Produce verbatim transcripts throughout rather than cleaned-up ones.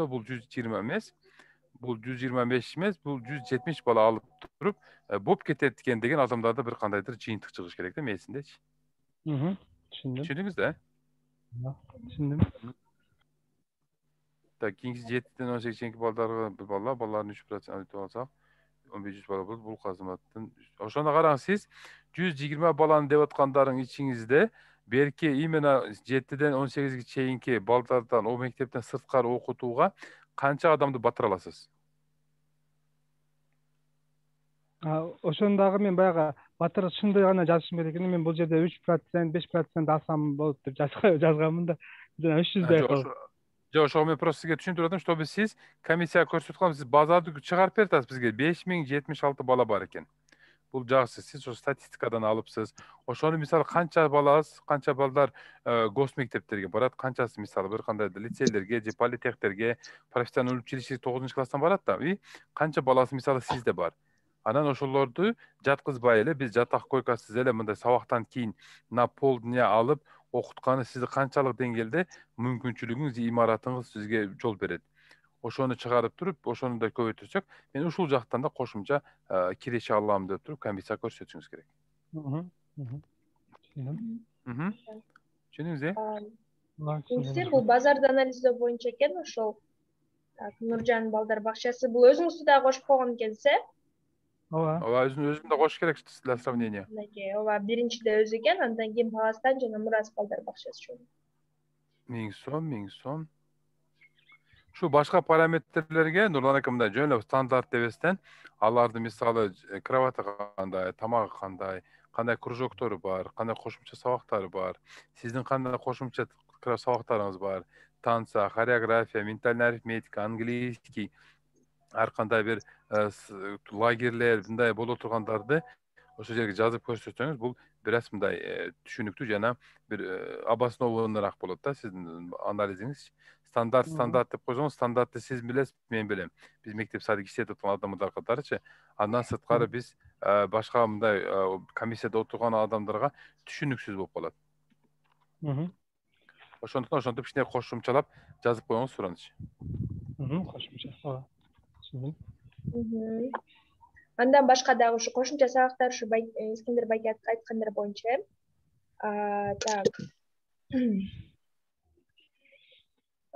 бул жүз жыйырма эмес, бул жүз жыйырма беш эмес, бул жүз жетимиш бала алып туруп болуп кетет экен деген адамдарда бир кандайдыр жыйынтык чыгыш керек да мээсиндечи. Түшүндүм. Түшүндүңүз да? Түшүндүм. Так, кийинкиси жетиден он сегизге чейинки балдарга бир бала, балалардын үч процент айтып алсак, он беш жүз бала болот. Бул казматтын. Ошондо караңыз, сиз жүз жыйырма баланы деп аткандарың ичиңизде берки именно жетиден он сегизге чейинки балдардан о мектептен сырткары окутууга канча адамды батыра аласыз? Ошондагы мен баягы батыр чынды гана жазышым керек экен. Мен бул жерде үч процент, беш процент алсам болот деп жазганмын да. Жана үч жүздөй калып. Жок, ошого мен просто сизге түшүндүрүп атам, чтобы сиз комиссияга көрсөтүп аткан, сиз базарды чыгарып берип атасыз бизге. беш миң жетимиш алты бала бар экен. Бул жакшы, сиз ошо статистикадан алыпсыз. Ошону мисалы канча баласы, канча балдар гос мектептерге барат, канчасы мисалы бир кандай лицейлерге же политехтерге, профессионалдык училище тогузунчу класстан барат да, и канча баласы мисалы сизде бар. Анан ошолорду жаткызбай эле биз жатак койкасыз эле мындай сабактан кийин на полдня алып окутканы сизди канчалык деңгээлде мүмкүнчүлүгүңүз, имаратыңыз сизге жол берет. Ошону чыгарып туруп, ошону да көбөйтүрсөк, мен ушул жактан да кошумча киреше алам деп туруп комиссияга көрсөтүшүңүз керек. Түшүндүңүз э? Сиз бул базарды анализдөө боюнча экен ошол. Так, Нуржан балдар бакчасы бул өзүңүздү да кошуп койгон экенсиз э? Ооба. Ооба, өзүн да кошуш керек для сравнения. Ооба, биринчиде өзү экен, андан кийин Паластан жана Мурас балдар бакчасы. миң сом, миң сом. Şu başka parametrlerge Nurlan aka мындай жөн эле стандарт дебестен аларды мисалы кроваты кандай, тамагы кандай, кандай кружоктору бар, кандай кошумча сабактары бар, сиздин кандай кошумча сабактарыңыз бар, танца, хореография, ментальная арифметика, английский, ар кандай бир лагерлер мындай боло тургандарды ошол жерге жазып көрсөтсөңүз, бул бир аз мындай түшүнүктүү жана бир обоснованныраак болот да сиздин анализиңиз. Стандарт стандарт деп койсоңуз, стандартты сиз билесиз, мен билем. Биз мектеп садик иштетип аткан адамдар катарычы. Андан сырткары биз башка мындай комиссияда отурган адамдарга түшүнүксүз болуп калат. Ошондуктан ошентип кичине кошумчалап жазып коюңуз суранычы. Кошумча. Ооба. Түшүндүм. Андан башка дагы ушу кошумча сабактар ушу Искендер байке айткандар боюнча. Так.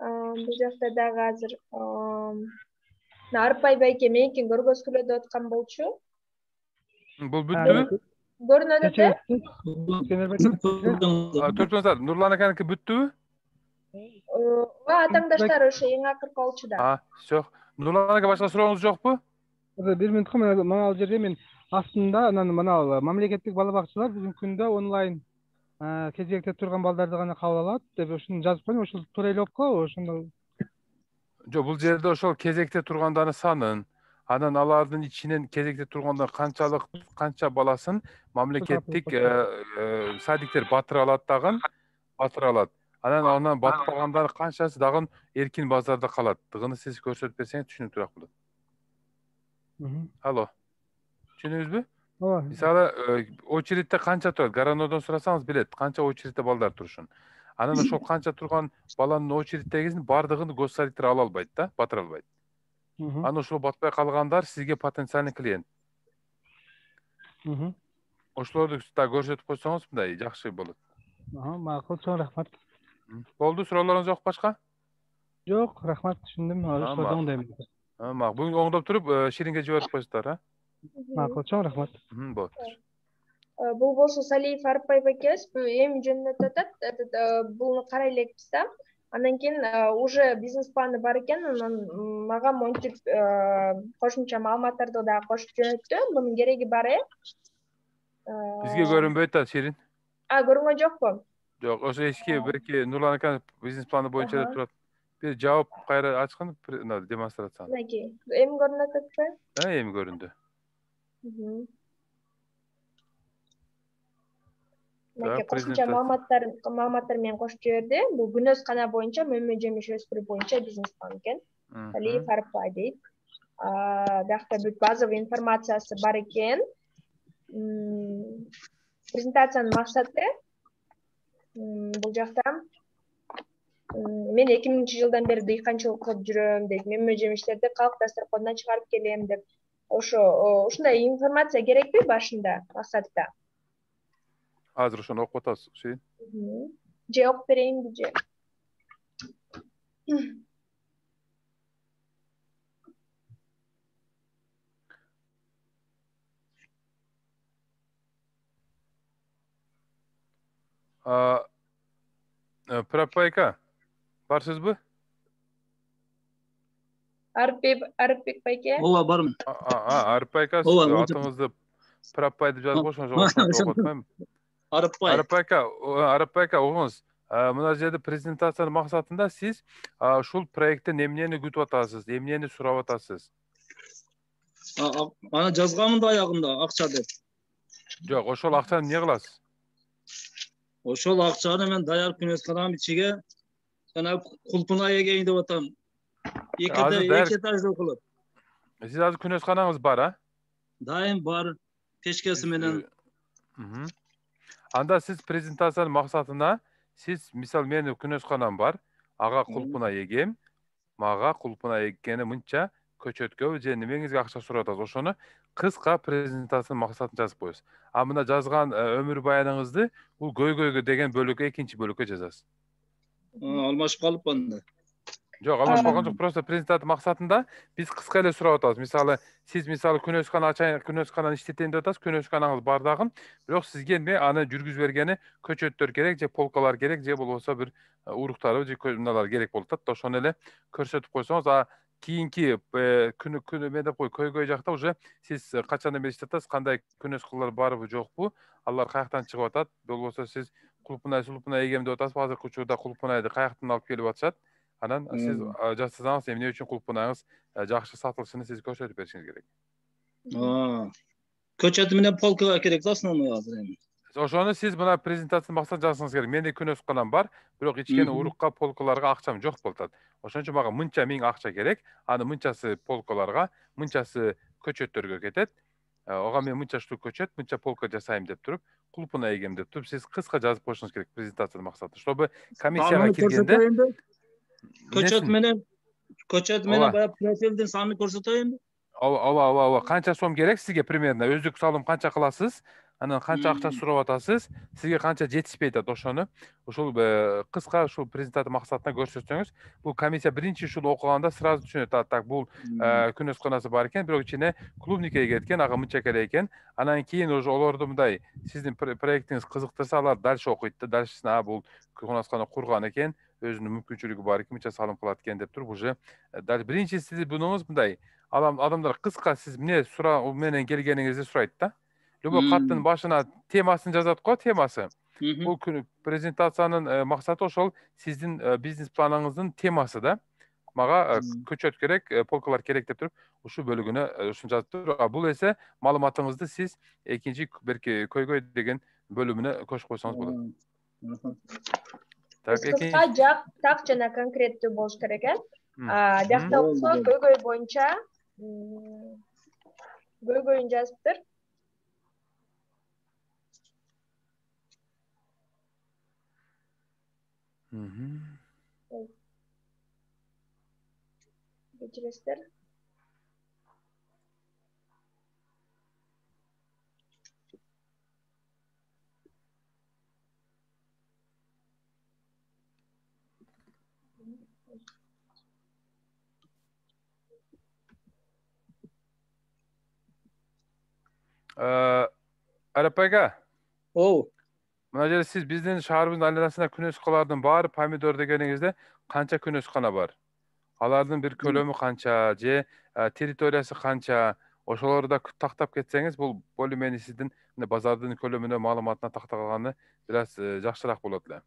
Бул жакта дагы азыр Арпай байке меникин көргөзгүлө деп аткан болчу. Бул бүттүбү? Көрүнөт да? Төртүңүздөр, Нурлан аканыкы бүттүбү? Ооба, атаңдаштар ошо эң акыркы болчу да. А, всё. Нурлан ака башка сурооңуз жокпу? Бир минутка мына ал жерде мен астында анан мына мамлекеттик бала бакчалар бүгүнкү күндө онлайн кезекте турган балдарды гана кабыл алат деп ошону жазып койдум. Ошол туура эле болуп калабы ошондо? Жок, бул жерде ошол кезекте тургандардын санын, анан алардын ичинен кезекте тургандар канчалык канча баласын мамлекеттик садиктер батыра алат дагы, батыра алат. Анан анан батпагандары канчасы дагы эркин базарда калат. Дыгыны сиз көрсөтүп берсеңиз түшүнүктүүрөөк болот. Алло. Түшүндүңүзбү? Ооба. Мисалы, очередте канча турат? Гаранодон сурасаңыз билет, канча очередте балдар турушун. Анан ошол канча турган баланын очереддегисин бардыгын госсадиктер ала албайт да, батыра албайт. Анан ошол батпай калгандар сизге потенциальный клиент. Ошолорду да көрсөтүп койсоңуз мындай жакшы болот. Макул, чоң рахмат. Болду, суроолоруңуз жок башка? Жок, рахмат, түшүндүм. Ошолорду оңдойм. Макул, бүгүн оңдоп туруп, Ширинге жиберип коесуздар, а? Макул, чоң рахмат. Болот. Бул болсо Салиев Арпай байкебиз, эми жөнүнө атат, буну карай элекпиз да. Андан кийин уже бизнес планы бар экен, анан мага монтип кошумча маалыматтарды да кошуп жөнөттү. Мунун кереги бар э? Бизге көрүнбөйт да, Ширин. А, көрүнгөн жокпу? Жок, ошо эски бирки Нурлан аканын бизнес планы боюнча деп турат. Бир жаап кайра ачкын демонстрацияны. Мынакей, эми көрүнүп атпайбы? А, эми көрүндү. Мынакей кошумча маалыматтар маалыматтар менен кошуп жиберди. Бул күнөз кана боюнча мөмө жемиш өспүрүү боюнча бизнес план экен. Салиев Арпай дейт. Биякта бүт базовый информациясы бар экен. Презентациянын максаты бул жакта мен эки миңинчи жылдан бери дыйканчылык кылып жүрөм дейт. Мөмө жемиштерди калк дасторконуна чыгарып келем деп. Ошо ушундай информация керекпи башында, максатта? Азыр ошону окуп атасыз, Шейин? Же окуп берейинби же? Прапайка, барсызбы? Арыпбек байке? Ооба, бармын. Арыпбайка, атыңызды Прапай деп жазып койсоңуз, ошентип окуп атпаймынбы? Арыпбай. Арыпбайка, Арыпбайка, угуңуз. Мына жерде презентациянын максатында сиз ушул проекттен эмнени күтүп атасыз, эмнени сурап атасыз? Аны жазганмын да аягында акча деп. Жок, ошол акчаны эмне кыласыз? Ошол акчаны мен даяр күнөскананын ичиге жана кулпуна эгейин деп атам. Эки этаждуу кылып. Сиз азыр күнөсканаңыз бар, а? Дайым бар, печкеси менен. Анда сиз презентациянын максатына сиз, мисалы, менин күнөсканам бар, ага кулпуна эгем, мага кулпуна эккени мынча көчөткө же немеңизге акча сурап атасыз. Ошону кыска презентациянын максатын жазып коесуз. А мына жазган өмүр баяныңызды бул көйгөйгө деген бөлүккө, экинчи бөлүккө жазасыз. Алмашып калыпмын да. Жок, алмашып калган жок, просто презентация максатында биз кыска эле сурап атабыз. Мисалы, сиз мисалы күнөскана ачайын, күнөскананы иштетейин деп атасыз, күнөсканаңыз бар дагы, бирок сизге эми аны жүргүзүп бергени көчөттөр керек, же полкалар керек, же болбосо бир уруктары же мыналар керек болуп атат. Ошону эле көрсөтүп койсоңуз, а кийинки күнү күнү мен деп кой, көйгөй жакта уже сиз качандан бери иштеп атасыз, кандай күнөскалар барбы жокпу, алар каяктан чыгып атат, болбосо сиз кулпунай сулпунай эгем деп атасызбы, азыркы учурда кулпунайды каяктан алып келип атышат. Анан сиз жасасаңыз, эмне үчүн кулпунаңыз жакшы сатылышын сиз көрсөтүп беришиңиз керек. Көчөт менен полкага керек да основной азыр эми. Ошону сиз мына презентациянын максатын жазсаңыз керек. Менде күнөсканам бар, бирок ичкен урукка, полкаларга акчам жок болуп атат. Ошон үчүн мага мынча миң акча керек. Аны мынчасы полкаларга, мынчасы көчөттөргө кетет. Ага мен мынча штук көчөт, мынча полка жасайм деп туруп, кулпуна эгем деп туруп, сиз кыска жазып коюшуңуз керек презентациянын максаты. Чтобы комиссияга киргенде көчөт менен көчөт менен баягы профилдин санын көрсөтөйүнбү? Ооба, ооба, ооба. Канча сом керек сизге примерно? Өздүк салым канча кыласыз? Анан канча акча сурап атасыз? Сизге канча жетишпей атат ошону? Ушул кыска ушул презентация максатына көрсөтсөңүз, бул комиссия биринчи ушул окуганда сразу түшүнөт. А так бул күнөсканасы бар экен, бирок ичине клубникке кеткен, ага мынча керек экен. Анан кийин уже олорду мындай сиздин проектиңиз кызыктырса, алар дальше окуйт да, дальшесина бул күнөсканы курган экен, өзүнүн мүмкүнчүлүгү бар экен, мынча салым кылат экен деп туруп уже биринчи сиз бунуңуз мындай адамдар кыска сиз эмне суроо менен келгениңизди сурайт да. Любой каттын башына темасын жазат го, темасы. Бул презентациянын максаты ошол сиздин бизнес планыңыздын темасы да. Мага көчөт керек, полкалар керек деп туруп, ушул бөлүгүнө ушуну жазып туруп, а бул эсе маалыматыңызды сиз экинчи берки көйгөй деген бөлүмүнө көчүрүп койсоңуз болот. Кыска, жак жана конкреттүү болуш керек, э? Жакта болсо көйгөй боюнча көйгөйүн жазыптыр. Кечиресиздер. Арапайга. Оу. Мына жерде сиз биздин шаарыбыздын айланасында күнөскалардын баары помидор дегениңизде канча күнөскана бар? Алардын бир көлөмү канча, же территориясы канча? Ошолорду да тактап кетсеңиз, бул более-менее сиздин базардын көлөмүнө, маалыматына такталганы бир аз жакшыраак болот эле.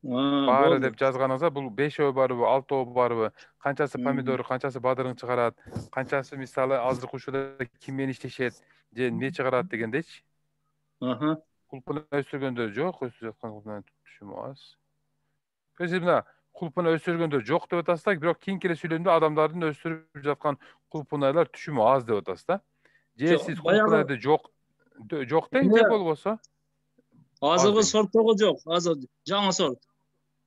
Баары деп жазганыңызда бул бешөө барбы, алтоо барбы, канчасы помидор, канчасы бадырың чыгарат, канчасы мисалы азыркы учурда ким менен иштешет, же эмне чыгарат дегендейчи. Аха. Кулпуна өсүргөндөр жок, өсүп жаткан кулпуна түшүм аз. Сиз мына кулпуна өсүргөндөр жок деп атасыз да, бирок кийинки эле сүйлөмдө адамдардын өсүрүп жаткан кулпунайлар түшүмү аз деп атасыз да. Же сиз кулпунайды жок жок дейин, же болбосо азыркы сорттогу жок, азыр жаңы сорт.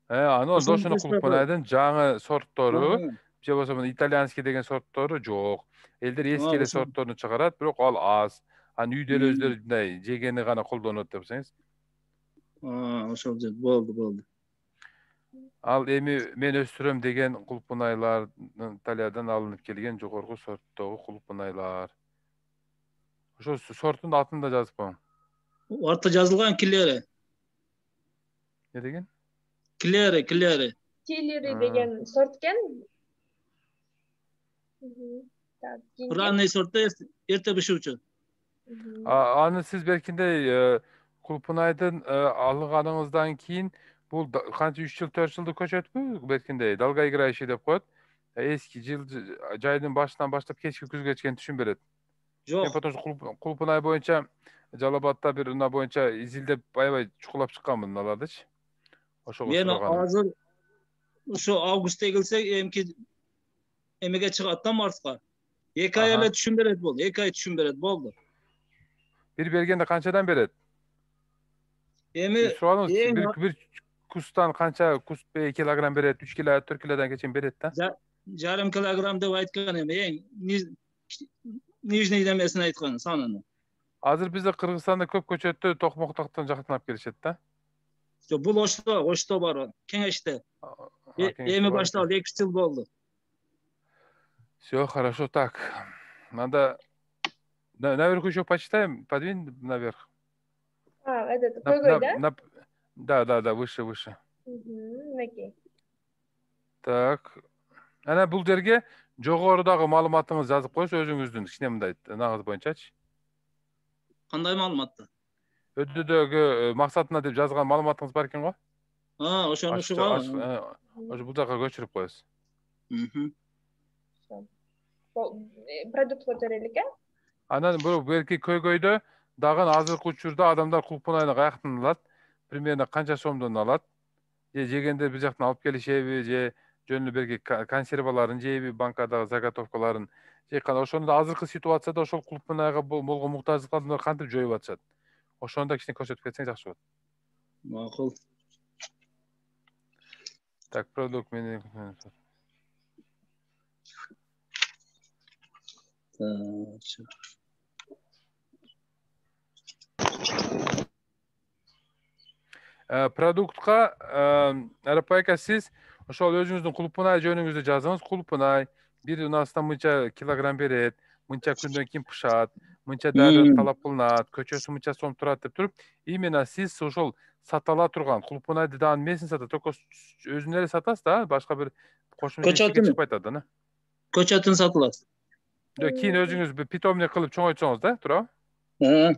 Аны ошону кулпунайдын жаңы сорттору, же болбосо мына итальянский деген сорттору жок. Элдер эски эле сортторун чыгарат, бирок ал аз. Аны үйдө эле өздөрү мындай жегени гана колдонот десеңиз. Ошол жер болду, болду. Ал эми мен өстүрөм деген кулпунайлар Италиядан алынып келген жогорку сорттогу кулпунайлар. Ошо сорттун атын да жазып коюң. Артта жазылган Килери. Не деген? Килери, Килери. Килери деген сорт экен. Ранний сорт эрте бышуучу. Аны сиз беркиндей кулпунайдын алганыңыздан кийин бул канча үч жыл төрт жылдык көчөтпү? Беркиндей долгоиграющий деп коет. Эски жыл жайдын башынан баштап кечки күзгө чейин түшүн берет. Жок. Потому что кулпунай боюнча Жалал Абадта бир уна боюнча изилдеп аябай чукулап чыкканмын алардычы. Ошого мен азыр ошо августта келсек эмки эмеге чыгат да Марска. эки ай эле түшүн берет болду. эки ай түшүн берет болду. Бир бергенде канчадан берет? Эми бир бир кустан канча куст килограмм берет? үч кило, төрт килодан кечин берет да? Жарым килограмм деп айткан эми, эң нижний немесин айткан санын. Азыр бизде Кыргызстанда көп көчөттү Токмоктоктон жактан алып келишет да? Жок, бул Ошто, Ошто бар, Кеңеште. Эми башталды, эки жыл болду. Всё хорошо, так. Надо наверх еще почитаем, подвинь наверх. А, этот какой, да? Да, да, да, выше, выше. Окей. Так. Ана бул жерге жогорудагы маалыматыңызды жазып коюңуз өзүңүздүн кичине мындай нагыз боюнчачы. Кандай маалыматты? Өддөдөгү максатына деп жазган маалыматыңыз бар экен го? А, ошону ушуга. Ошо бул жака көчүрүп коесуз. Мм. Продуктка төрөлүк, э? Анан бул берки көйгөйдө дагы азыркы учурда адамдар кулпунайны каяктан алат? Примерно канча сомдон алат? Же жегенде бир жактан алып келишеби, же жөн эле берки консерваларын жейби, банкадагы заготовкаларын. Же кандай ошону да азыркы ситуацияда ошол кулпунайга болгон муктаждыктарды кантип жоюп атышат? Ошону да кичине көрсөтүп кетсең жакшы болот. Макул. Так, продукт менен. Продуктка Арапайка сиз ошол өзүңүздүн кулпунай жөнүңүздү жазыңыз. Кулпунай бир унасынан мынча килограмм берет, мынча күндөн кийин пышат, мынча дайралык талап кылынат, көчөсү мынча сом турат деп туруп, именно сиз ошол сатала турган кулпунайды дагы эмесин сатат, только өзүн эле сатасыз да, башка бир кошумча эчке чыкпай атат да. Көчөтүн сатылат. Жок, кийин өзүңүз бир питомник кылып чоңойтсоңуз да, туурабы? Ага.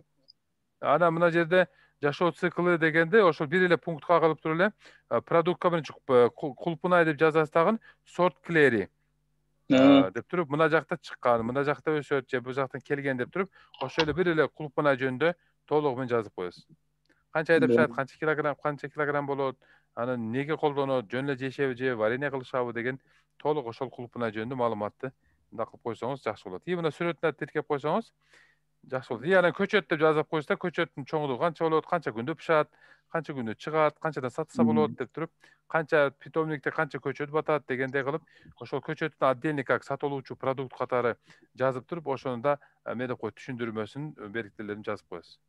Анан мына жерде жашоо циклы дегенде ошол бир эле пунктка калып туруп эле продуктка биринчи кулпунай деп жазасыз дагы сорт Клери деп туруп, мына жакта чыккан, мына жакта өсөт же бул жактан келген деп туруп, ошол эле бир эле кулпунай жөнүндө толугу менен жазып коесуз. Канча айда пышат, канча килограмм, канча килограмм болот, аны эмнеге колдонот, жөн эле жешеби же варенье кылышабы деген толук ошол кулпунай жөнүндө маалыматты мындай кылып койсоңуз жакшы болот. И мына сүрөтүнө тиркеп койсоңуз жакшы болот. И анан көчөт деп жазып коюңуз да, көчөттүн чоңдугу канча болот, канча күндө пышат, канча күндө чыгат, канчадан сатса болот деп туруп, канча питомникте канча көчөт батат дегендей кылып, ошол көчөттүн отдельный как сатылуучу продукт катары жазып туруп, ошону да эмне деп коет, түшүндүрмөсүн, белгилерин жазып коесуз.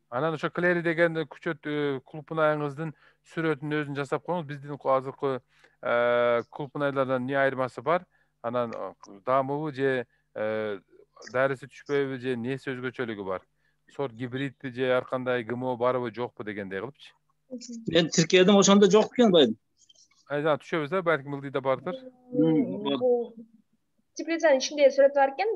Анан ошо Клери деген көчөт кулпунайыңыздын сүрөтүн өзүн жасап коюңуз. Биздин азыркы кулпунайлардан эмне айырмасы бар? Анан дамыбы же дарысы түшпөйбү же несі өзгөчөлүгү бар? Сорт гибридби же ар кандай ГМО барбы жокпу дегендей кылыпчы. Мен тиркедим, ошондо жок экен байым. Айда түшөбүз да, балким ылдыйда бардыр. Теплицанын ичинде сүрөтү бар экен.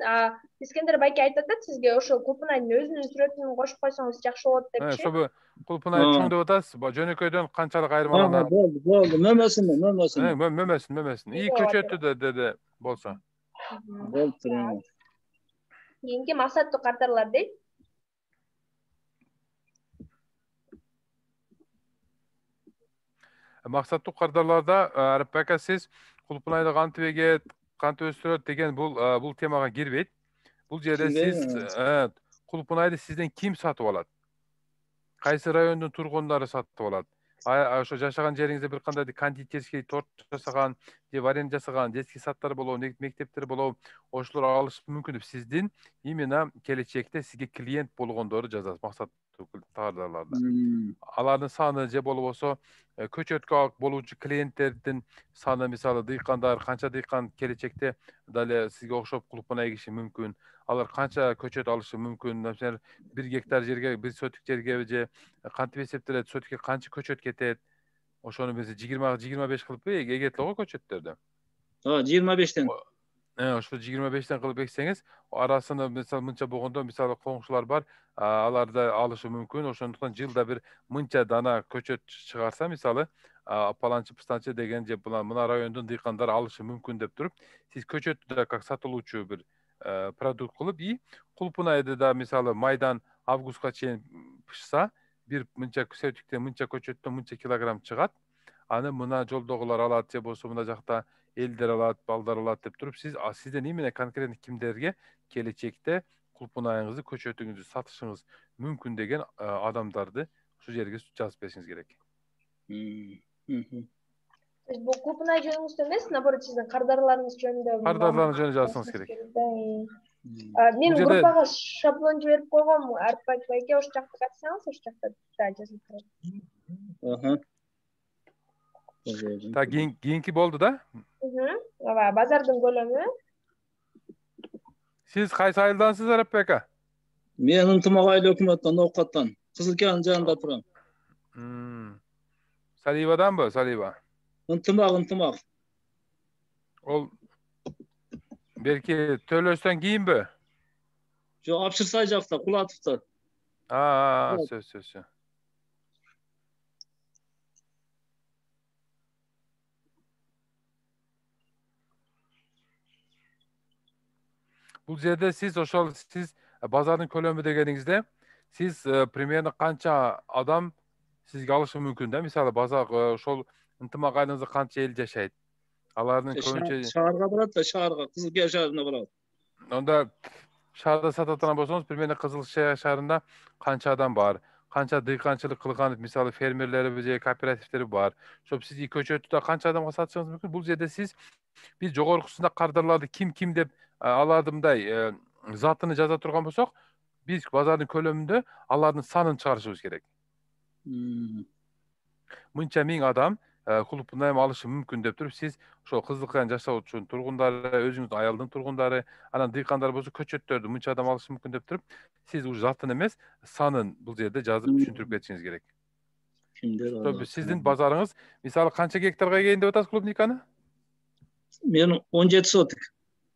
Искендер байке айтып атат сизге ошол кулпунайдын өзүнүн сүрөтүн кошуп койсоңуз жакшы болот депчи. Ошо кулпунай чоң деп атасыз, жөнөкөйдөн канчалык айырмаланат? Болду, болду, мөмөсүн, мөмөсүн. Мөмөсүн, мөмөсүн. И көчөтү да деди болсо. Болду. Кийинки максаттуу карталар дейт. Максаттуу кардарларда Арапайка сиз кулпунайды кантип эгет, кантип өстүрөт деген бул бул темага кирбейт. Бул жерде сиз кулпунайды сизден ким сатып алат? Кайсы райондун тургундары сатып алат? ошо жашаган жериңизде бир кандай кондитерский торт жасаган же варенье жасаган детский садтар болобу, мектептер болобу, ошолор алышы мүмкүн деп сиздин именно келечекте сизге клиент болгондорду жазасыз максаттуу товарларда. Алардын саны же болбосо көчөткө болуучу клиенттердин саны, мисалы дыйкандар, канча дыйкан келечекте дале сизге окшоп кулпуна эгиши мүмкүн. Алар канча көчөт алышы мүмкүн. Например, бир гектар жерге, бир сотик жерге же кантип эсептелет, сотикке канча көчөт кетет. Ошону биз жыйырма жыйырма беш кылып эгет го көчөттөрдү. Ооба, жыйырма бештен. Ошо жыйырма бештен кылып эксеңиз, арасында мисалы мынча болгондо, мисалы коңшулар бар, аларды алышы мүмкүн. Ошондуктан жылда бир мынча дана көчөт чыгарса, мисалы, паланчы пыстанчы деген же мына райондун дыйкандары алышы мүмкүн деп туруп, сиз көчөттү да как сатылуучу бир продукт кылып, и кулпунайды да мисалы майдан августка чейин пышса, бир мынча сотиктен мынча көчөттөн мынча килограмм чыгат. Аны мына жолдогулар алат же болбосо мына жакта элдер алат, балдар алат деп туруп, сиз сизден именно конкретно кимдерге келечекте кулпунайыңызды, көчөтүңүздү сатышыңыз мүмкүн деген адамдарды ушул жерге жазып беришиңиз керек. Бул кулпунай жөнүңүздө эмес, наоборот сиздин кардарларыңыз жөнүндө. Кардарларыңыз жөнүндө жазсаңыз керек. Мен группага шаблон жиберип койгом, Арпак байке, ошол жакта катсаңыз, ошол жакта да жазылып турат. Аха. Та кийинки болду да? Ооба, базардын көлөмү. Сиз кайсы айылдансыз, Арапбек ака? Мен Ынтымак айыл өкмөттөн, Ноокаттан, Кызылкаянын жанында турам. Саливаданбы, Салива? Ынтымак, Ынтымак. Ол берки Төлөстөн кийинби? Жок, Апшырсай жакта, Кулатовто. А, сөз, сөз. Бул жерде сиз ошол сиз базардын көлөмү дегениңизде, сиз примерно канча адам сизге алышы мүмкүн да? Мисалы базар ошол Ынтымак айылыңызда канча эл жашайт? Алардын көбүнчө шаарга барат да, шаарга, Кызылкая шаарына барат. Онда шаарда сататан болсоңуз, примерно Кызылкая шаарында канча адам бар? Канча дыйканчылык кылган, мисалы фермерлери же кооперативтери бар? Ошо сиз көчөттү да канча адамга сатышыңыз мүмкүн? Бул жерде сиз биз жогоркусунда кардарларды ким ким деп аларды мындай затыны жаза турган болсок, биз базардын көлөмүндө алардын санын чыгарышыбыз керек. Мынча миң адам кулпунай алышы мүмкүн деп туруп, сиз ошол Кызылкаянын жашоочу тургундары, өзүңүздүн айылдын тургундары, анан дыйкандар болсо көчөттөрдү мынча адам алышы мүмкүн деп туруп, сиз уже затын эмес, санын бул жерде жазып түшүндүрүп кетишиңиз керек. Кимдер алат? Сиздин базарыңыз, мисалы канча гектарга эгейин деп атасыз клубниканы? Мен он жети сотик.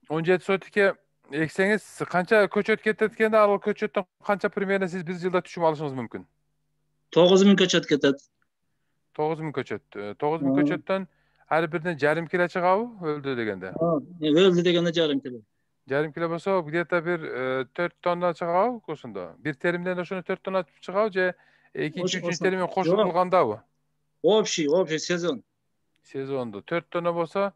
он жети сотикке эксеңиз канча көчөт кетет экен, ал көчөттөн канча примерно сиз бир жылда түшүм алышыңыз мүмкүн? тогуз миң көчөт кетет. тогуз миң көчөт. тогуз миң көчөттөн ар биринен жарым кило чыгабы, өлдү дегенде? Өлдү дегенде жарым кило. Жарым кило болсо, где-то бир төрт тонна чыгабы ошондо? Бир теримден ошону төрт тонна чыгабы же экинчи, үчүнчү терим кошулуп кылгандабы? Общий, общий сезон. Сезондо төрт тонна болсо,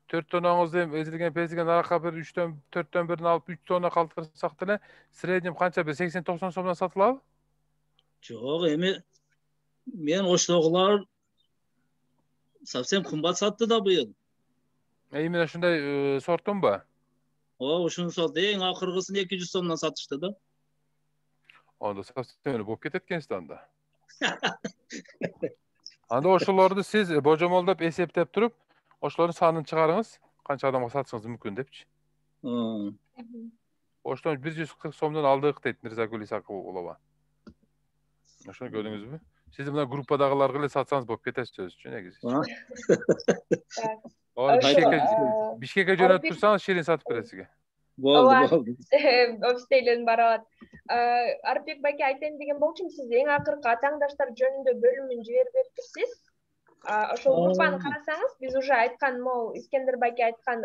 төрт тоннаңызды эзилген песилген аракка бир үчтөн төрттөн бирин алып үч тонна калтырсак деле, среднем канча бир сексен токсон сомдон сатылабы? Жок, эми мен оштогулар совсем кымбат сатты да быйыл. Именно ушундай сорттунбу? Ооба, ушуну сатты. Эң акыркысын эки жүз сомдон сатышты да. Анда совсем эле болуп кетет экенсиз анда. Анда ошолорду сиз божомолдоп эсептеп туруп, ошолордун санын чыгарыңыз, канча адамга сатышыңыз мүмкүн депчи. Оштон бир жүз кырк сомдон алдык дейт Мирзагүл Исакулова. Ошону көрдүңүзбү? Сиз мына группадагыларга эле сатсаңыз болуп кетет сөзчү негизи. Бишкекке жөнөтүп турсаңыз, ширин сатып берет сизге. Болду, болду. Офистейлерин барат. Арпек байке айтайын деген болчумун, сиз эң акыркы атаңдаштар жөнүндө бөлүмүн жиберип берипсиз. Ошол группаны карасаңыз, биз уже айткан, могу Искендер байке айткан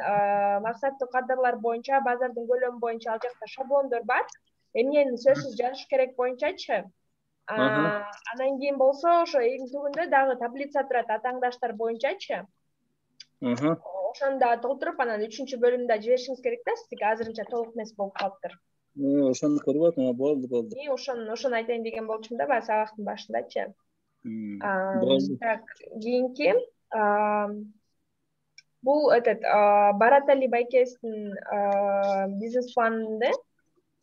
максаттуу кадрлар боюнча, базардын көлөмү боюнча ал жакта шаблондор бар. Эмнени сөзсүз жазыш керек боюнчачы. Анан кийин болсо, ошо эң түбүндө дагы таблица турат атаңдаштар боюнчачы. Ошону да толтуруп, анан үчүнчү бөлүмдө жиберишиңиз керек да, сиздики азырынча толук эмес болуп калыптыр. Ошону көрүп атам, болду, болду. И ошону ошону айтайын деген болчумун да, баягы сабактын башындачы. Так, кийинки бул этот Баратали Байкестин бизнес планында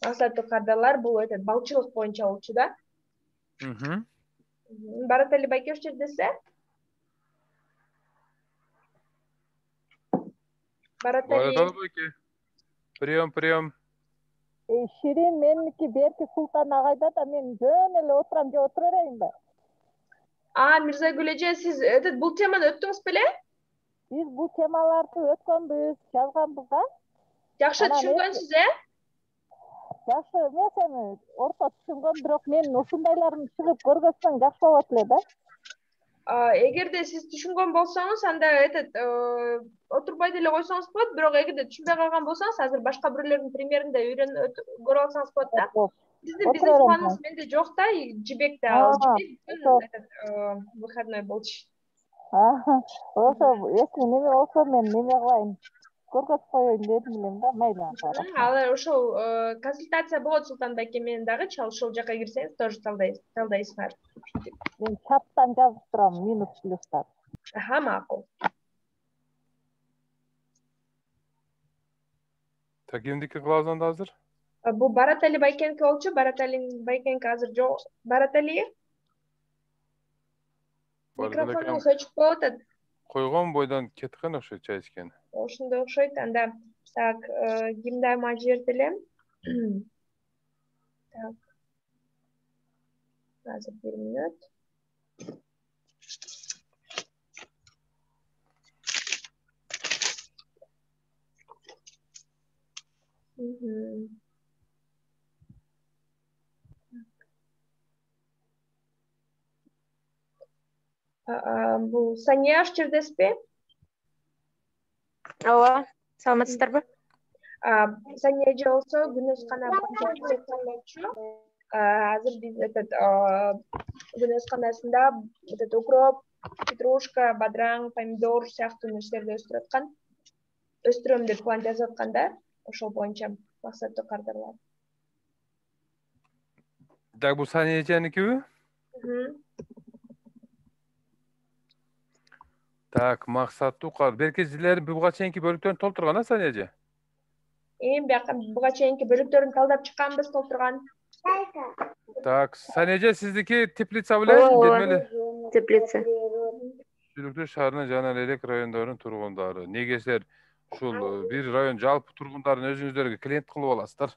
максаттуу кардарлар бул этот балчылык боюнча болчу да. Баратали Байкеш жердесе? Баратали Байке. Прием, прием. Ширин меники берки Султан агайда да мен жөн эле отурам же отура берейинби? А, Мирзагүл эже, сиз этот бул теманы өттүңүз беле? Биз бул темаларды өткөнбүз, жазганбыз да. Жакшы түшүнгөнсүз, э? Жакшы эмес эми, орто түшүнгөн, бирок мен ушундайларын чыгып көргөзсөң жакшы болот эле да. Эгерде сиз түшүнгөн болсоңуз, анда этот отурбай деле койсоңуз болот, бирок эгерде түшүнбөй калган болсоңуз, азыр башка бирөөлөрдүн примеринде үйрөнүп көрүп алсаңыз болот да. Биздин бизнес планыбыз менде жок да, Жибекте ал Жибек бүт этот выходной болчу. Ошо, эки неме болсо мен неме кылайын. Көргөзүп коеюн дедим элем да, мейли. Алар ошол консультация болот Султан байке менен дагы, ошол жака кирсеңиз тоже талдайсыңар. Мен чаттан жазып турам, минус плюстар. Аха, макул. Так, эмдики кылабыз анда азыр? Бул Баратали Байкенки болчу, Бараталинин Байкенки азыр жок. Баратали? Микрофонуңуз өчүк болуп атат. Койгон бойдон кеткен окшойт чай ичкен. Ошондой окшойт. Анда так, кимди ама жиберди элем? Так. Азыр бир мүнөт. Бул Сания жердесизби? Ооба, саламатсыздарбы? Сания эже болсо күнөзкана боюнча кезектелмөкчү. Азыр биз этот күнөзканасында этот укроп, петрушка, бадыраң, помидор сыяктуу нерселерди өстүрүп аткан. Өстүрөм деп план жазып аткан да, ошол боюнча максаттуу кардарлар. Так, бул Сания эженикиби? Так, максаттуу кар. Берки силер буга чейинки бөлүктөрүн толтурган, а Сания эже? Эми бияка буга чейинки бөлүктөрүн талдап чыкканбыз, толтурган. Так, Сания эже, сиздики теплица беле? Теплица. Сүлүктүү шаарынын жана элек райондорунун тургундары. Негесилер ушул бир район жалпы тургундарын өзүңүздөргө клиент кылып аласыздар.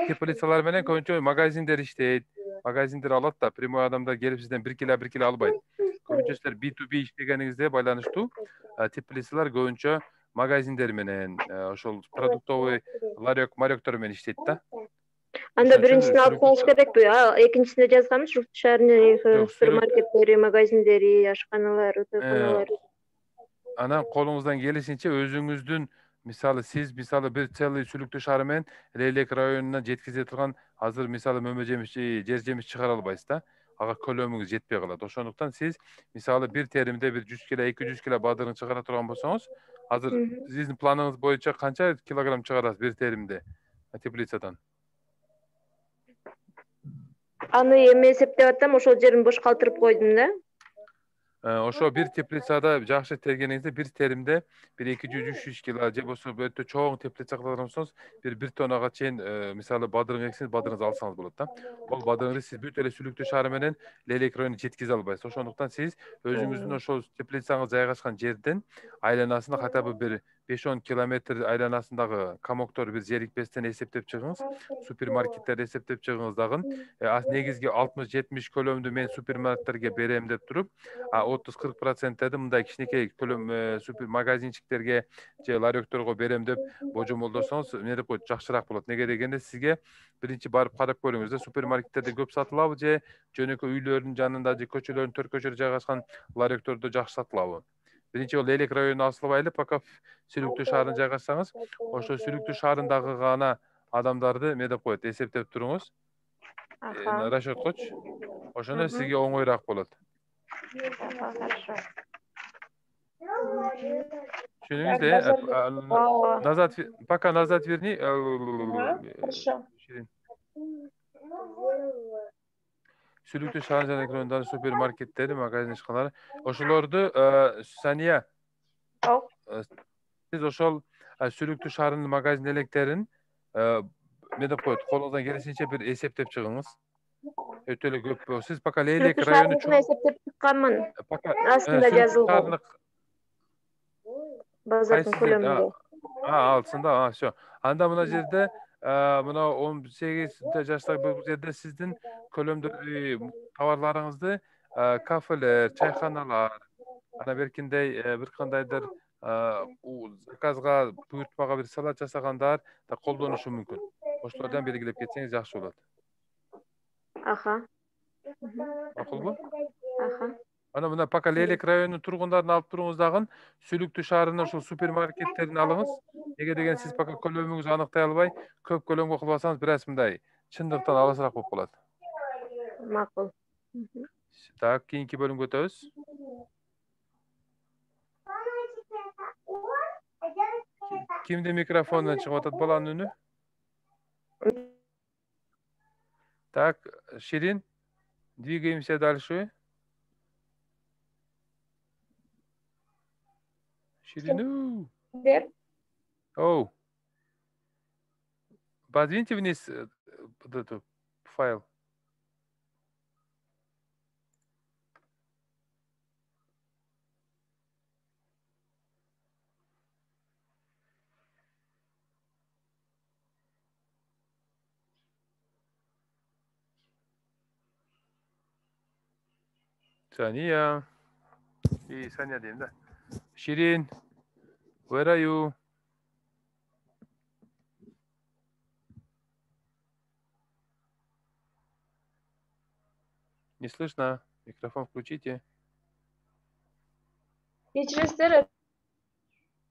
Теплицалар менен көбүнчө магазиндер иштейт. Магазиндер алат да, прямой адамдар келип сизден бир кило бир кило албайт. Көбүнчө силер би ту би иштегениңизде байланыштуу теплицалар көбүнчө магазиндер менен, ошол продуктовый ларек, маректор менен иштейт да. Анда биринчисин алып коюңуз керекпи? Экинчисинде жазганбыз, Журт шаарынын супермаркеттери, магазиндери, ашканалары, тойкуналары. Анан колуңуздан келишинче өзүңүздүн, мисалы сиз мисалы бир целый Сүлүктүү шаары менен Лейлек районуна жеткизе турган азыр мисалы мөмө жемиш, жер жемиш чыгара албайсыз да. Ага көлөмүңүз жетпей калат. Ошондуктан сиз мисалы бир теримде бир жүз кило, эки жүз кило бадырын чыгара турган болсоңуз, азыр сиздин планыңыз боюнча канча килограмм чыгарасыз бир теримде теплицадан? Аны эми эсептеп атам, ошол жерин бош калтырып койдум да. Ошо бир теплицада жакшы тергениңизде бир теримде бир эки жүз үч жүз кило же болсо өтө чоң теплица кылган болсоңуз бир бир тоннага чейин мисалы бадырың эксеңиз бадырыңызды алсаңыз болот да. Ол бадырыңызды сиз бүт эле Сүлүктүү шаары менен Лейлек районуна жеткизе албайсыз. Ошондуктан сиз өзүңүздүн ошол теплицаңыз жайгашкан жерден айланасында хотя бы бир беш он километр айланасындагы комоктор бир зерикпестен эсептеп чыгыңыз, супермаркеттерди эсептеп чыгыңыз дагы. Негизги алтымыш жетимиш көлөмдү мен супермаркеттерге берем деп туруп, отуз кырк проценттерди мындай кичинекей көлөм супер магазинчиктерге же ларекторго берем деп божомолдосоңуз эмне деп коет, жакшыраак болот. Неге дегенде сизге биринчи барып карап көрүңүз да, супермаркеттерде көп сатылабы же жөнөкөй үйлөрдүн жанында же көчөлөрдүн төрт көчөдө жайгашкан ларектордо жакшы сатылабы? Биринчи ол Лейлек районуна асылбайлы, пока Сүлүктүү шаарына жайгашсаңыз, ошо Сүлүктүү шаарындагы гана адамдарды эмне деп коет, эсептеп туруңуз. Расчет койчу. Ошондо сизге оңоюраак болот. Хорошо. Түшүнүңүз да? Назад, пока назад верни. Хорошо. Сүлүктүү шаар жана райондардын супермаркеттери, магазин ишканалары. Ошолорду Сания, сиз ошол Сүлүктүү шаарынын магазин электерин мен деп коет, колуңуздан келишинче бир эсептеп чыгыңыз. Өтө эле көп. Сиз пока Лейлек району чоң эсептеп чыкканмын. Астында жазылган. Базардын көлөмүндө. А, алтысында, а, всё. Анда мына жерде мына он сегиз жаштагы бул жерде сиздин көлөмдөгү товарларыңызды кафелер, чайханалар, ана беркиндей бир кандайдыр заказга, буйртмага бир салат жасагандар да колдонушу мүмкүн. Ошолордон белгилеп кетсеңиз жакшы болот. Аха. Макулбу? Аха. Ана мына пока Лейлек районунун тургундарын алып туруңуз дагы Сүлүктүү шаарынын ушул супермаркеттерин алыңыз. Эге деген сиз пока көлөмүңүздү аныктай албай, көп көлөмгө кылбасаңыз, бир аз мындай чындыктан алысыраак болуп калат. Макул. Так, кийинки бөлүмгө өтөбүз. Кимдин микрофонунан чыгып атат баланын үнү? Так, Ширин, двигаемся дальше. Ширину. Оу. Подвиньте вниз вот этот файл. Сания. И Саня дейм да. Ширин. Where are you? Не слышно. Микрофон включите. Кечиресиздер,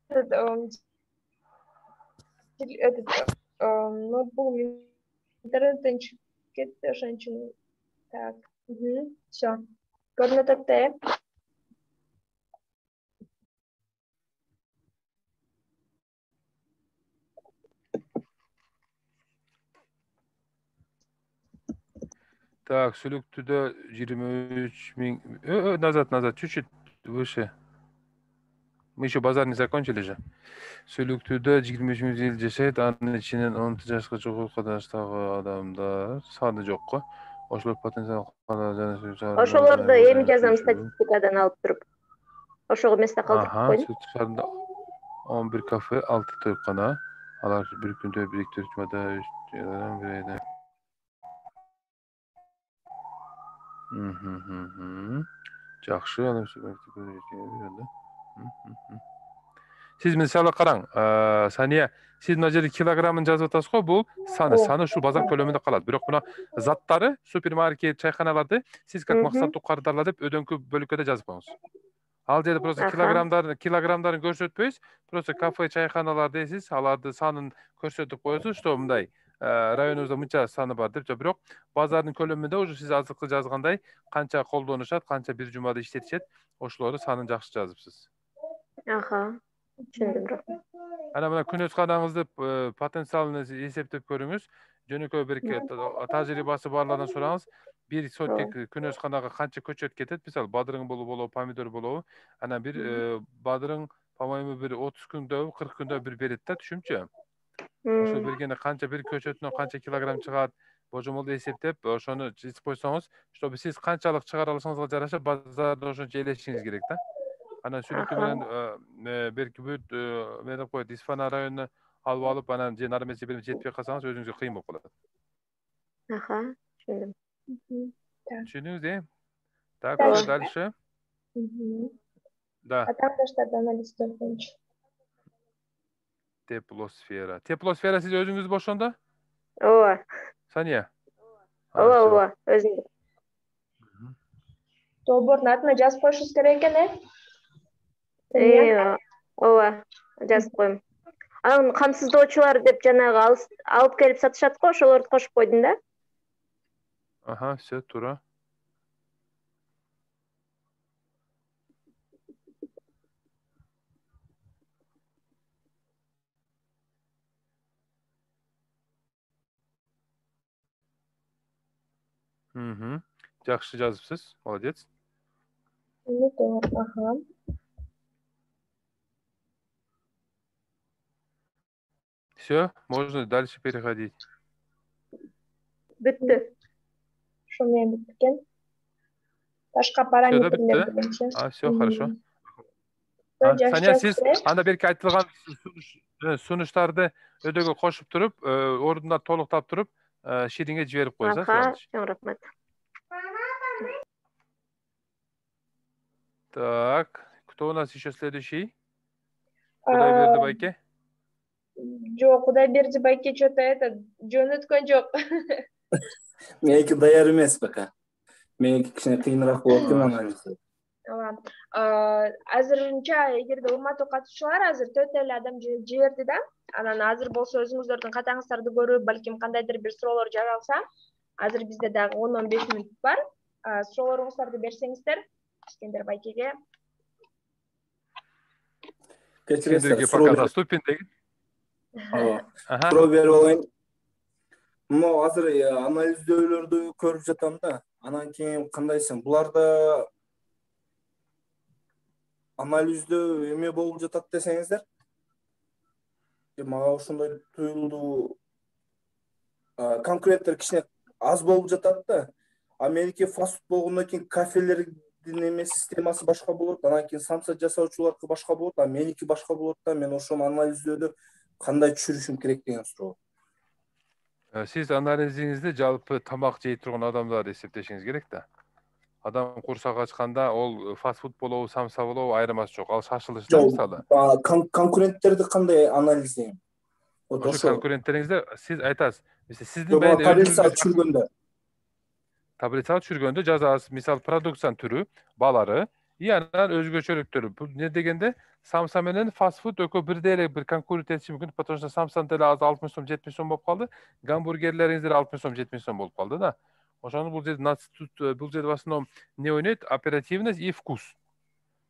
этот ноутбук интернеттен чыгып кетти, ошон үчүн. Так, всё. Көрүнүп атат да, э? Так, Сүлүктүүдө жыйырма үч миң. Назад, назад, чуть-чуть выше. Мы еще базар не закончили же. Сүлүктүүдө жыйырма үч миң ел жашайт, анын ичинен он алты жашка чогуу кадаштагы адамдар саны жокко. Ошолор потенциал Ошолорду эми жазам статистикадан алып туруп. Ошого эместе калтырып койдум. Сүт шаарында он бир кафе, алты тоykana. Алар бир күндө бириктир жумада береді. Жакшы, анан сиз мисалы караң, Сания, сиз мына жерде килограммын жазып атасыз го, бул саны, саны ушул базар көлөмүндө калат. Бирок мына заттары, супермаркет, чайханаларды сиз как максаттуу кардарлар деп өдөңкү бөлүккө жазып коюңуз. Ал жерде просто килограммдарын, килограммдарын көрсөтпөйсүз, просто кафе, чайханалар дейсиз, аларды санын көрсөтүп коесуз, что мындай районубузда мынча саны бар деп. Бирок базардын көлөмүндө уже сиз азыркы жазгандай канча колдонушат, канча бир жумада иштетишет, ошолорду санын жакшы жазыпсыз. Аха. Түшүндүм. Ана мына күнөсканаңызды потенциалын эсептеп көрүңүз. Жөнөкөй бир тажрыйбасы барлардан сураңыз. Бир сотик күнөсканага канча көчөт кетет? Мисалы, бадырың болобу, болобу, помидор болобу? Ана бир бадырың, по-моему, бир отуз күндө, кырк күндө бир берет да, түшүнүпчү? Ошо бергенде канча бир көчөтүнөн канча килограмм чыгат, божомолду эсептеп, ошону жазып койсоңуз, чтобы сиз канчалык чыгара алсаңызга жараша базарда ошончо элешиңиз керек да. Анан Сүлүктүү менен берки бүт мен деп коет, Исфана районуна алып алып, анан же нары эмесе бир жетпей калсаңыз өзүңүзгө кыйын болуп калат. Аха, түшүндүм. Түшүндүңүз, э? Так, что дальше? Да. Аташтарды анализдер боюнча. Теплосфера. Теплосфера сиз өзүңүз бошондо? Ооба. Сания? Ооба, ооба, өзүм. Долбоордун атына жазып коюшубуз керек экен, э? Э, ооба, жазып коем. Анан камсыздоочулар деп жанагы алып келип сатышат го, ошолорду кошуп койдум да. Ага, все, туура. Жакшы жазыпсыз. Молодец. Ага. Все, можно дальше переходить. Бүтті. Шумен бүткен. Башка параметрлерди. А, все, хорошо. Саня, сиз анда берки айтылган сунуштарды өйдөгө кошуп туруп, ордуна толуктап туруп, Ширинге жиберип коесуз. Ага, рахмат. Так, кто у нас еще следующий? Кудайберди байке? Жок, Кудайберди байке что-то это жөнөткөн жок. Меники даяр эмес пока. Меники кичине кыйыныраак болот экен анализ. Азырынча эгерде урматтуу катышуулар азыр төрт эле адам жиберди да. Анан азыр болсо өзүңүздөрдүн катаңыздарды көрүп, балким кандайдыр бир суроолор жара алса, азыр бизде дагы он он беш мүнөт бар. Суроолоруңуздарды берсеңиздер, Искендер байкеге. Искендерге пока заступин деген. Суроо берип алайын. Мына азыр анализдөөлөрдү көрүп жатам да. Анан кийин кандайсың? Буларда анализдөө эме болуп жатат десеңиздер? Мага ошондой туюлду. Конкуренттер кичине аз болуп жатат да. Америка фастфуд болгондон кийин кафелердин эме системасы башка болот, анан кийин самса жасоочуларга башка болот, а меники башка болот да. Мен ошону анализдөөдө кандай түшүрүшүм керек деген суроо. Сиз анализиңизди жалпы тамак жей турган адамдарды эсептешиңиз керек да. Адам курсак ачканда ол фастфуд болобу, самса болобу айырмасы жок. Ал шашылышта мисалы. Конкуренттерди кандай анализдейм? Ошо конкуренттериңизди сиз айтасыз. Сиздин таблицага түшүргөндө. Таблицага түшүргөндө жазасыз. Мисалы продукциянын түрү, баалары, и анан өзгөчөлүктөрү. Бул не дегенде самса менен фастфуд экөө бирдей эле бир конкурент этиши мүмкүн, потому что самсанын деле азыр алтымыш сом, жетимиш сом болуп калды. Гамбургерлериңиздер алтымыш сом, жетимиш сом болуп калды да. Ошону бул жерде бул жерде в основном не ойнойт? Оперативность и вкус.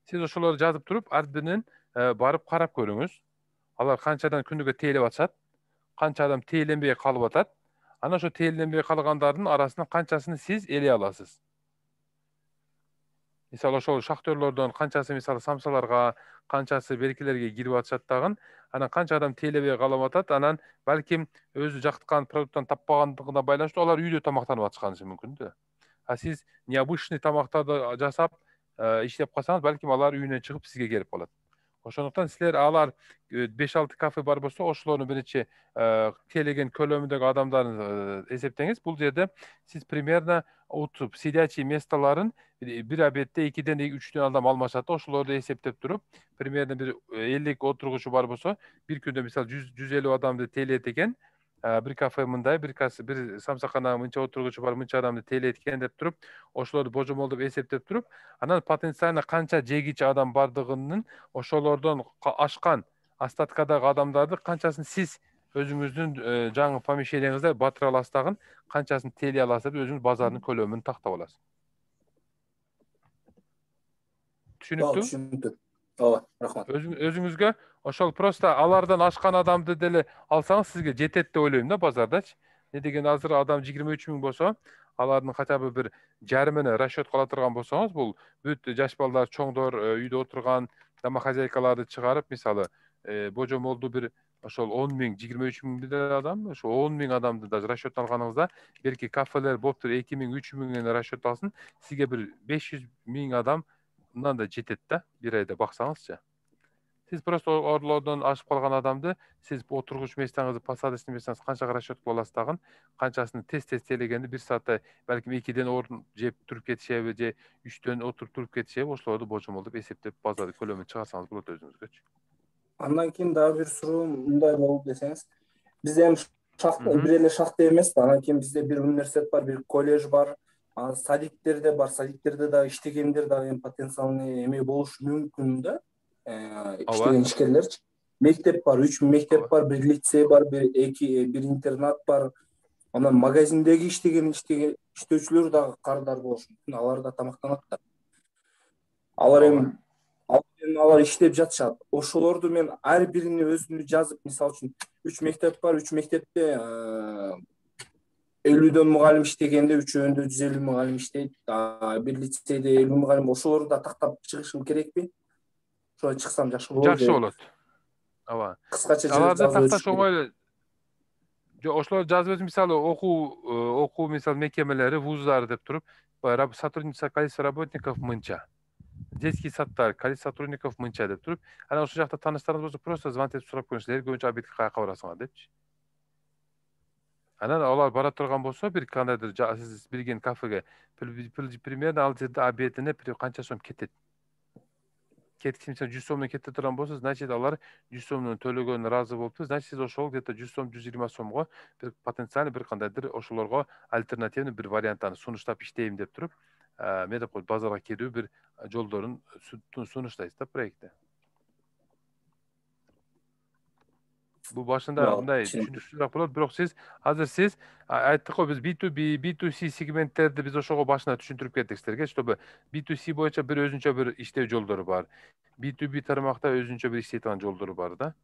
Сиз ошолорду жазып туруп, ар биринен барып карап көрүңүз. Алар канчадан күнүгө тейлеп атышат, канча адам тейленбей калып атат. Анан ошо тейленбей калгандардын арасынан канчасын сиз элей аласыз. Мисалы ошол шахтерлордон канчасы мисалы самсаларга, канчасы беркилерге кирип атышат дагы, анан канча адам тейлебей калып атат, анан балким өзү жактыкан продукттан таппагандыгына байланыштуу алар үйдө тамактанып атышканы мүмкүн да. А сиз необычный тамактарды жасап иштеп калсаңыз, балким алар үйүнөн чыгып сизге келип калат. Ошондуктан силер алар беш алты кафе бар болсо, ошолордун биринчи тейлеген көлөмүндөгү адамдарын эсептеңиз. Бул жерде сиз примерно отуруп сидячий местоларын бир обедте экиден үчтөн адам алмашат. Ошолорду эсептеп туруп, примерно бир элүү отургучу бар болсо, бир күндө мисалы жүз элүү адамды тейлейт экен. Бир кафе мындай, бир касы бир самсакана мынча отургучу бар, мынча адамды тейлейт экен деп туруп, ошолорду божомолдоп эсептеп туруп, анан потенциально канча жегичи адам бардыгынын ошолордон ашкан остаткадагы адамдарды канчасын сиз өзүңүздүн жаңы помещениеңизде батыра аласыз дагы, канчасын тейлей аласыз деп өзүңүз базардын көлөмүн тактап аласыз. Түшүнүктүү? Түшүнүктүү. Ооба, рахмат. Өзүңүзгө ошол просто алардан ашкан адамды деле алсаңыз сизге жетет деп ойлойм да базардачы. Не деген азыр адам жыйырма үч миң болсо, алардын хотя бы бир жарымына расчет кыла турган болсоңуз, бул бүт жаш балдар, чоңдор, үйдө отурган домохозяйкаларды чыгарып, мисалы, божомолду бир ошол он миң, жыйырма үч миң адам, ошо он миң адамды даже расчет алганыңызда, белки кафелер болуптур эки миң, үч миңден расчет алсын, сизге бир беш жүз миң адамдан да жетет да, бир айда баксаңызчы. Сиз просто орлордон ашып калган адамды, сиз отургуч местеңизди посадочный местеңиз канчага расчет кыла аласыз дагы, канчасын тез-тез тейлегенди бир саатта балким экиден орун жеп туруп кетишеби, же үчтөн отуруп туруп кетишеби, ошолорду божомолдоп эсептеп базарды көлөмүн чыгарсаңыз болот өзүңүзгөчү. Андан кийин дагы бир суроо мындай болуп десеңиз, бизде эми шахта бир эле шахта эмес да, анан кийин бизде бир университет бар, бир колледж бар, анан садиктерде бар, садиктерде дагы иштегендер дагы эми потенциальный эме болушу мүмкүн да. Иштеген ишкерлерчи. Мектеп бар, үч мектеп бар, бир лицей бар, бир эки бир интернат бар. Анан магазиндеги иштеген иштөөчүлөр дагы кардар болушу мүмкүн, алар да тамактанат да. Алар эми алар иштеп жатышат. Ошолорду мен ар бирини өзүмдү жазып, мисалы үчүн үч мектеп бар, үч мектепте элүүдөн мугалим иштегенде үчөөндө жүз элүү мугалим иштейт. Бир лицейде элүү мугалим, ошолорду да тактап чыгышым керекпи? Ошо чыксам жакшы болот. Жакшы болот. Ооба. Кыскача Аларды жазып такташ өтүш керек. оңой эле. Жо, ошолор жазып өтүп, мисалы окуу окуу мисалы мекемелери, вуздар деп туруп, сотрудница количество работников мынча. Детский садтар количество сотрудников мынча деп туруп, анан ошол жакта тааныштарыңыз болсо просто звонить сурап коюңуздар, көбүнчө обедке каяка барасыңар депчи. Анан алар бара турган болсо, бир кандайдыр сиз билген кафеге примерно ал жерде обедине канча сом кетет. Кеткенче жүз сомдон кете турган болсо, значит алар жүз сомдон төлөгөнүнө ыраазы болуптур. Значит сиз ошол где-то жүз сом, жүз жыйырма сомго бир потенциально бир кандайдыр ошолорго альтернативный бир варианттаны сунуштап иштейм деп туруп, мен деп коет базарга кирүү бир жолдорун сунуштайсыз да проектте. Бул башында мындай түшүнүксүзүрөөк болот, бирок сиз азыр сиз айттык го, биз би ту би, би ту си сегменттерди биз ошого башында түшүндүрүп кеттик силерге, чтобы би ту си боюнча бир өзүнчө бир иштөө жолдору бар. би ту би тармакта өзүнчө бир иштей турган жолдору бар да.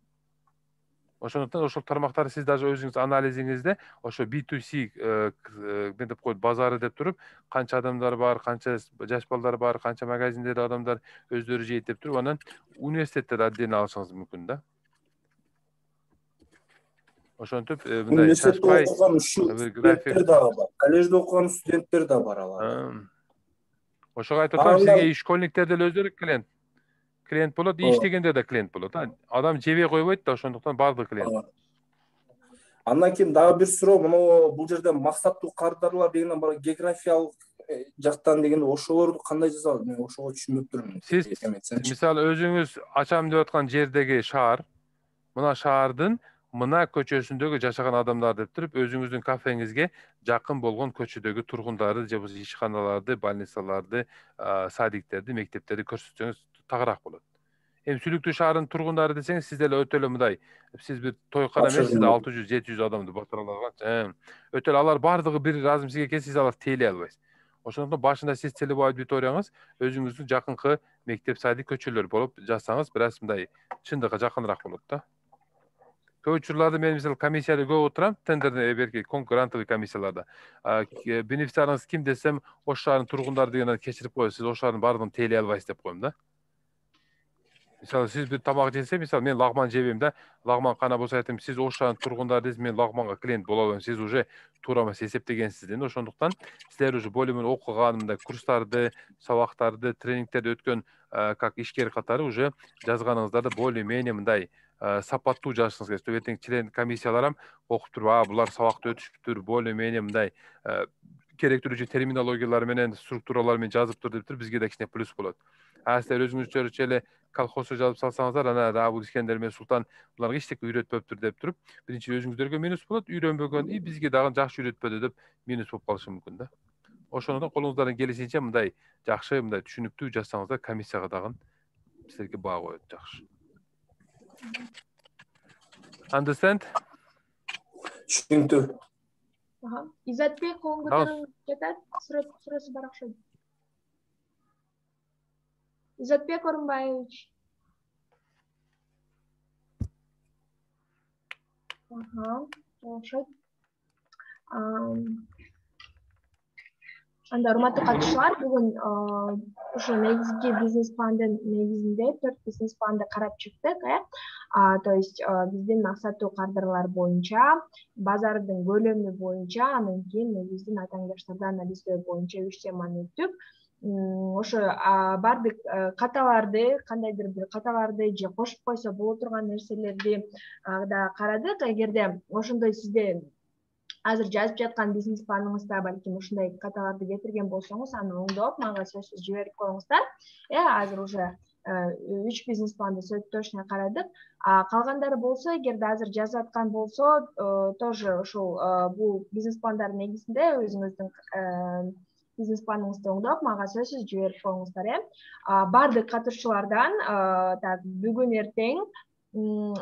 Ошондуктан ошол тармактарды сиз даже өзүңүз анализиңизде ошо би ту си мен деп коет базары деп туруп, канча адамдар бар, канча жаш балдар бар, канча магазиндер адамдар өздөрү жейт деп туруп, анан университеттерди отдельно алышыңыз мүмкүн да. Ошентип мындай университетте окуган студенттер дагы бар. Коллежде окуган студенттер да бар алар. Ошого айтып атам, сизге школьниктер деле өздөрү клиент. Клиент болот, иштегенде да клиент болот. Адам жебей койбойт да, ошондуктан баардык клиент. Андан кийин дагы бир суроо, мына бул жерде максаттуу кардарлар дегенден бара географиялык жактан дегенде ошолорду кандай жазалат? Мен ошого түшүнбөп турмун. Сиз мисалы өзүңүз ачам деп аткан жердеги шаар, мына шаардын мына көчөсүндөгү жашаган адамдар деп туруп, өзүңүздүн кафеңизге жакын болгон көчөдөгү тургундарды же болбосо ишканаларды, больницаларды, садиктерди, мектептерди көрсөтсөңүз тагыраак болот. Эми Сүлүктүү шаарынын тургундары десеңиз, сиз деле өтө эле мындай, сиз бир тойкана эмес, сиз алты жүз, жети жүз адамды батыра алган. Өтө эле алар бардыгы бир разым сизге келсе, сиз алар тейлей албайсыз. Ошондуктан башында сиз целевой аудиторияңыз өзүңүздүн жакынкы мектеп, садик, көчөлөр болуп жасаңыз, бир аз мындай чындыкка жакыныраак болот да. Көп учурларда мен мисалы комиссияда көп отурам, тендерный берки конкурентовый комиссияларда. Бенефициарыңыз ким десем, Ош шаарынын тургундары дегенден кечирип коюп, сиз Ош шаарынын бардыгын тейлей албайсыз деп коем да. Мисалы сиз бир тамак жесе, мисалы мен лагман жебейм да, лагман кана болсо айтам, сиз Ош шаарынын тургундары десиз, мен лагманга клиент боло албайм, сиз уже туура эмес эсептегенсиз да. Ошондуктан силер уже более менее окуган, мындай курстарды, сабактарды, тренингтерди өткөн как ишкер катары уже жазганыңыздарды более менее мындай сапаттуу жазышыңыз керек. Эртең член комиссиялар окуп туруп, а булар сабакты өтүшүптүр, более менее мындай керектүү терминологиялар менен, структуралар менен жазыптыр деп туруп, бизге да кичине плюс болот. А силер өзүңүзчө эле колхозго жазып салсаңыздар, анан бул Искендер менен Султан буларга эчтеке үйрөтпөптүр деп туруп, биринчи өзүңүздөргө минус болот, үйрөнбөгөн, и бизге дагы жакшы үйрөтпөдү деп минус болуп калышы мүмкүн да. Ошондон колуңуздардан келишинче мындай жакшы, мындай түшүнүктүү жазсаңыздар, комиссияга дагы силерге баа коет жакшы. Understand? Түшүнүктүү. Ага. Изатбек колун көтөрүп жатат, суроосу бар окшойт. Изатбек Орунбаевич. Ага, окшойт. Анда урматтуу катышуулар, бүгүн ошо негизги бизнес пландын негизинде төрт бизнес планды карап чыктык, э. То есть биздин максаттуу кадрлар боюнча, базардын көлөмү боюнча, анан кийин биздин атааңдаштарды анализдөө боюнча үч теманы өттүк. Ошо баардык каталарды, кандайдыр бир каталарды же кошуп койсо боло турган нерселерди да карадык. Эгерде ошондой сизде азыр жазып жаткан бизнес планыңызда балким ушундай каталарды кетирген болсоңуз, аны оңдоп мага сөзсүз жиберип коюңуздар. Э, азыр уже үч бизнес планды точно карадык. Калгандары болсо, эгерде азыр жазып аткан болсо, тоже ушул бул бизнес пландардын негизинде өзүңүздүн бизнес планыңызды оңдоп, мага сөзсүз жиберип коюңуздар, э. Баардык катышуулардан так бүгүн эртең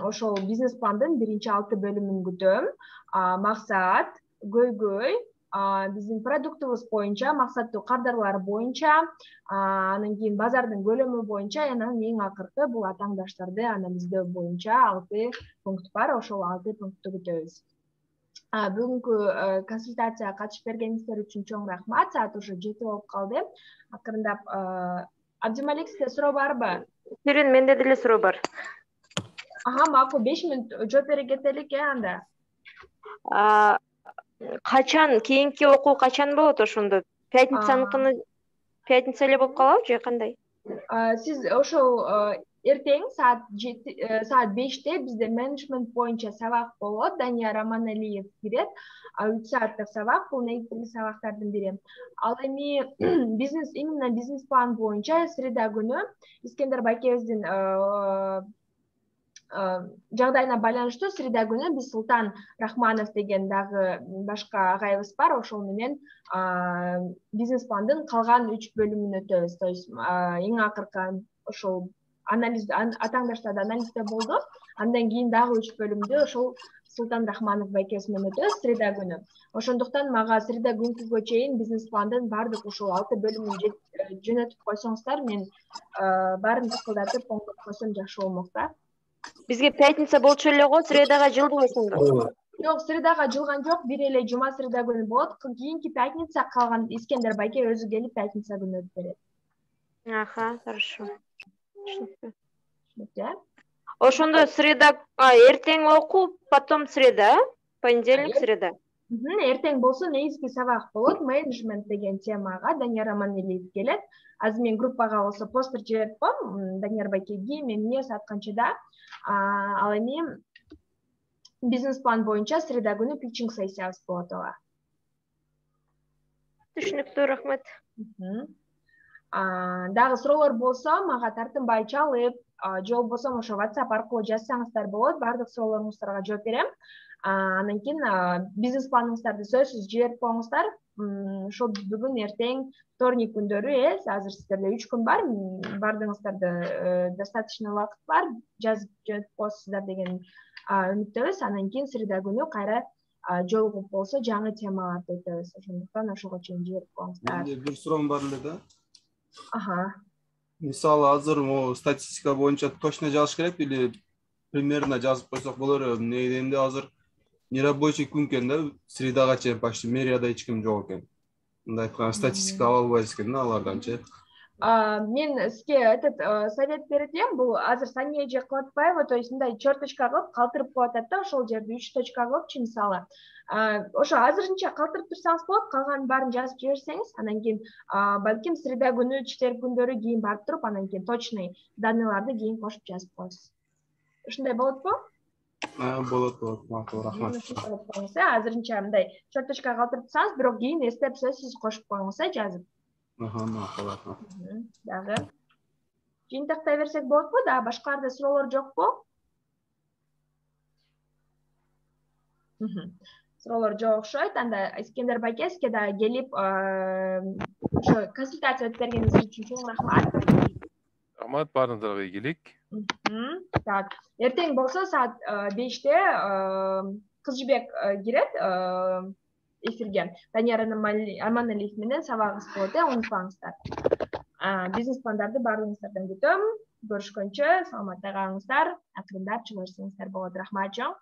ошол бизнес пландын биринчи алты бөлүмүн күтөм. Максат, көйгөй, биздин продуктубуз боюнча, максаттуу кадрлар боюнча, анан кийин базардын көлөмү боюнча, анан эң акыркы бул атааңдаштарды анализдөө боюнча алты пункт бар. Ошол алты пунктты күтөбүз. бүгүнкү консультацияга катышып бергениңиздер үчүн чоң рахмат. Саат уже жети болуп калды. Акырындап Абдималик, сизде суроо барбы? Ширин, менде деле суроо бар. Ага, макул, беш мүнөт жооп бере кетелик э анда. Качан, кийинки окуу качан болот ошондо? Пятницаныкыны пятница эле болуп калабы же кандай? Сиз ошол эртең саат саат беште бизде менеджмент боюнча сабак болот. Данияр Аманалиев кирет. үч сааттык сабак, бул негизги сабактардын бири. Ал эми бизнес, именно бизнес план боюнча среда күнү Искендер Байкебиздин жагдайына байланыштуу среда күнү биз Султан Рахманов деген дагы башка агайыбыз бар. Ошол менен бизнес пландын калган үч бөлүмүн өтөбүз. То есть эң акыркы ошол анализ атаңдаштарда анализде болду. Андан кийин дагы үч бөлүмдү ошол Султан Рахманов байкебиз менен өтөбүз среда күнү. Ошондуктан мага среда күнкүгө чейин бизнес пландын баардык ушул алты бөлүмүн жөнөтүп койсоңуздар, мен баарын тыкылдатып оңдоп койсом жакшы болмок да. Бизге пятница болчу эле го, средага жылды ошондо. Жок, средага жылган жок, бир эле жума среда күнү болот. Кийинки пятница калган Искендер байке өзү келип пятница күнү өтүп берет. Аха, хорошо. Түшүнүктүү. Ошондо среда, эртең окуу, потом среда, понедельник, среда. Эртең болсо негизги сабак болот. Менеджмент деген темага Данияр Аманалиев келет. Азыр мен группага болсо постер жиберип коем. Данияр байкеги мен эмне саат канчада. Ал эми бизнес план боюнча среда күнү питчинг сессиябыз болот ага. Түшүнүктүү, рахмат. Дагы суроолор болсо мага тартынбай чалып, же болбосо ошо WhatsApp аркылуу жазсаңыздар болот. Баардык суроолоруңуздарга жооп берем. Андан кийин бизнес планыңыздарды сөзсүз жиберип коюңуздар. Ошол бүгүн, эртең, вторник күндөрү, э, азыр сиздерде үч күн бар. Баардыгыңыздарда достаточно убакыт бар. Жазып жөнөтүп коесуздар деген үмүттөбүз. Андан кийин среда күнү кайра жолугуп болсо жаңы темаларды өтөбүз. Ошондуктан ошого чейин жиберип коюңуздар. Менде бир суроом бар эле да. Ага. Мисалы азыр могу статистика боюнча точно жазыш керек или примерно жазып койсок болор эле. Эмне дегенде азыр нерабочий күн экен да, средага чейин почти мэрияда эч ким жок экен. Мындай айтканда статистика ала албайбыз экен да аларданчы. Мен сизге этот совет берет элем. Бул азыр Сания же кылып атпайбы? То есть мындай черточка кылып калтырып коюп атат да, ошол жерде үч точка кылыпчы мисалы. Ошо азырынча калтырып турсаңыз болот, калганын баарын жазып жиберсеңиз, анан кийин балким среда күнү, четверг күндөрү кийин барып туруп, анан кийин точный данныйларды кийин кошуп жазып коесуз. Ушундай болотпу? Болот, болот. Макул, рахмат. Азырынча мындай черточка калтырып турсаңыз, бирок кийин эстеп сөзсүз кошуп коюңуз, э, жазып. Аха, макул, рахмат. Дагы жыйынтыктай берсек болотпу? Дагы башкаларда суроолор жокпу? Суроолор жок окшойт. Анда Искендер байкебизге дагы келип ошо консультация өтүп бергениңиз үчүн чоң рахмат. Рахмат, баарыңыздарга ийгилик. Так, эртең болсо саат беште Кыз Жибек кирет эфирге. Данияр Аманалиев менен сабагыбыз болот, э, унутпаңыздар. Бизнес пландарды баардыгыңыздардан күтөм. Көрүшкөнчө саламатта калыңыздар. Акырындап чыгышыңыздар болот. Рахмат, жок.